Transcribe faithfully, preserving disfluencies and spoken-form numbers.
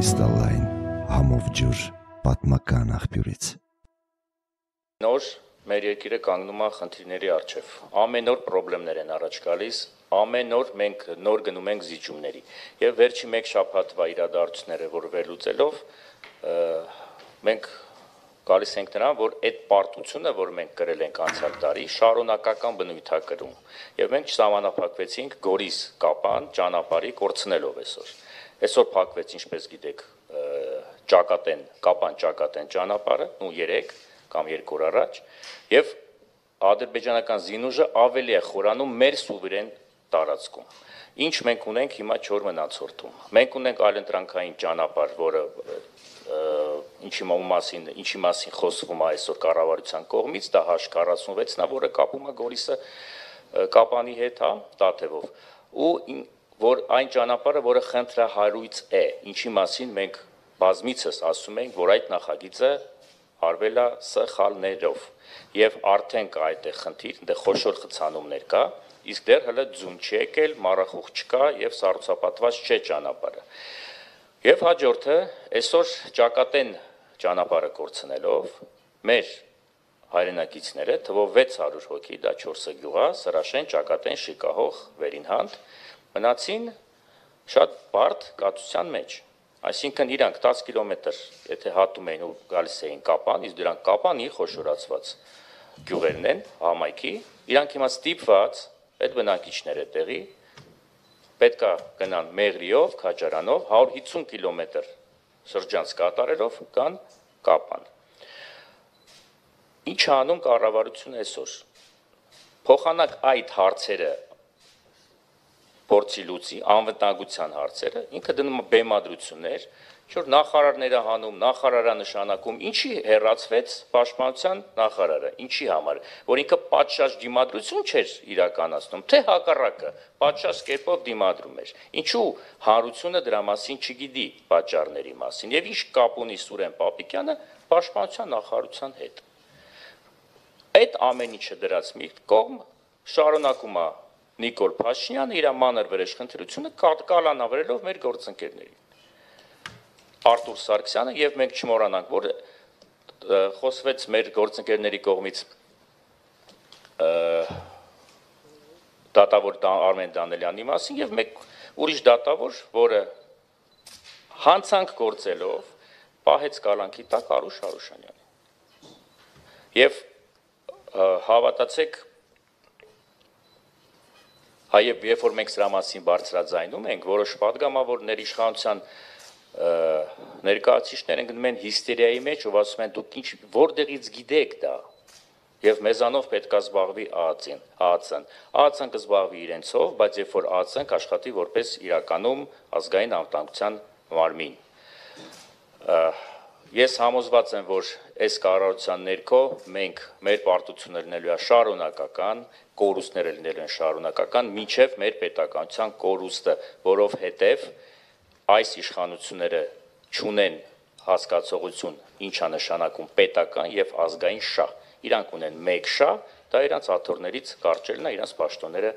Կրիստալային համով ջուր պատմական աղբյուրից։ Նոր մեր երկիրը կանգնում է խնդիրների առջև։ Ամեն օր խնդիրներ են առաջ գալիս, ամեն օր մենք նոր գնում ենք զիջումների։ Եվ վերջի մեկ շաբաթվա իրադարձությունները, որ վերլուծելով, մենք գալիս ենք նրան, որ այդ պարտությունը, որ մենք կրել ենք անցյալ տարի, շարունակական բնույթ է կրում։ Եվ մենք չսահմանափակվեցինք Գորիս Կապան ճանապարհի կորցնելով այսօր։ Այսօր փակվեց, ինչպես գիտեք, Ճակատեն, Կապան Ճակատեն ճանապարհը, ու երեք կամ երկու օր առաջ, եւ ադրբեջանական զինուժը ավելի է խորանում մեր սուվերեն տարածքում։ Ինչ մենք ունենք հիմա չոր մնացորդում։ Մենք ունենք այլընտրանքային ճանապարհ, որը ինչի մասին, ինչի մասին խոսվում է այսօր կառավարության կողմից, դա H քառասունվեցն է, որը կապում է Գորիսը Կապանի հետ, հա, Տաթևով, ու որ այն ճանապարհը, որը խնդրահարույց է, ինչի մասին մենք բազմիցս ասում ենք, որ այդ նախագիծը արվել է սխալներով, եւ արդեն կա այդտեղ խնդիր, այնտեղ խոշոր խցանումներ կա, իսկ դեռ հələ ձուն չի եկել, մառախուղ չկա եւ սառուցապատված չէ ճանապարհը։ Եվ հաջորդը, այսօր Ճակատեն ճանապարհը կորցնելով, մեր հայրենակիցները, թվով վեց հարյուր հոգի, դա չորսը գյուղ է, Սրաշեն, Ճակատեն, Շիկահող, Վերինհանդ, մնացին շատ բարդ կացության մեջ։ Այսինքն իրանք տասը կիլոմետր, եթե հատում էին ու գալիս էին Կապան, իսկ դրանք Կապանի խոշորացված գյուղերն են, համայնքի, իրանք հիմա ստիպված, այդ բնակիչները տեղի, պետք է գնան Մեղրիով, Քաջարանով, հարյուր հիսուն կիլոմետր շրջանց կատարելով կան Կապան։ Ինչ է անում կառավարությունը այսօր։ Փոխանակ այդ հարցերը փորձի լուծի, անվտանգության հարցերը, ինքը դնում է բեմադրություններ, որ նախարարները հանում, նախարարա նշանակում, ինչի հեռացվեց պաշտպանության նախարարը, ինչի համար, որ ինքը պատշաճ դիմադրություն չէր իրականացնում, թե հակառակը, պատշաճ կերպով դիմադրում էր։ Ինչու հանրությունը դրա մասին չգիտի պատճառների մասին, եւ ինչ կապ ունի Սուրեն Պապիկյանը պաշտպանության նախարարության հետ։ Այդ ամեն ինչը դրած մի կողմ շարունակում է Նիկոլ Փաշինյանը իր մանր վրեժխնդրությունը կալանավորելով մեր գործընկերներին։ Արտուր Սարգսյանը եւ մենք չմոռանանք, որ խոսվեց մեր գործընկերների կողմից դատավոր Արմեն Դանելյանի մասին եւ մեկ ուրիշ դատավոր, որը հանցանք գործելով պահեց կալանքի տակ Արուշ Արուշանյանին։ Եվ հավատացեք, Հայև, երբ որ մենք սրա մասին բարձրաձայնում ենք, որոշ պատգամավորներ իշխանության ներկայացուցիչներ են գնում են հիստերիայի մեջ ու ասում են դուք ինչ որտեղից գիտեք դա, եւ մեզանով պետք է զբաղվի ԱԱՑ-ն, ԱԱՑ-ն, ԱԱՑ-ն կզբաղվի իրենցով, բայց երբ որ ԱԱՑ-ն կաշխատի որպես իրականում ազգային անվտանգության մարմին։ Ես համոզված եմ, որ այս կառավարության ներքո մենք մեր պարտությունները լինելու է շարունակական, կորուստները լինելու են շարունակական, մինչև մեր պետականության կորուստը, որովհետև այս իշխանությունները չունեն հասկացողություն, ինչ է նշանակում պետական եւ ազգային շահ։ Իրանք ունեն մեկ շահ, դա իրանց աթոռներից կարճելն է, իրանց պաշտոնները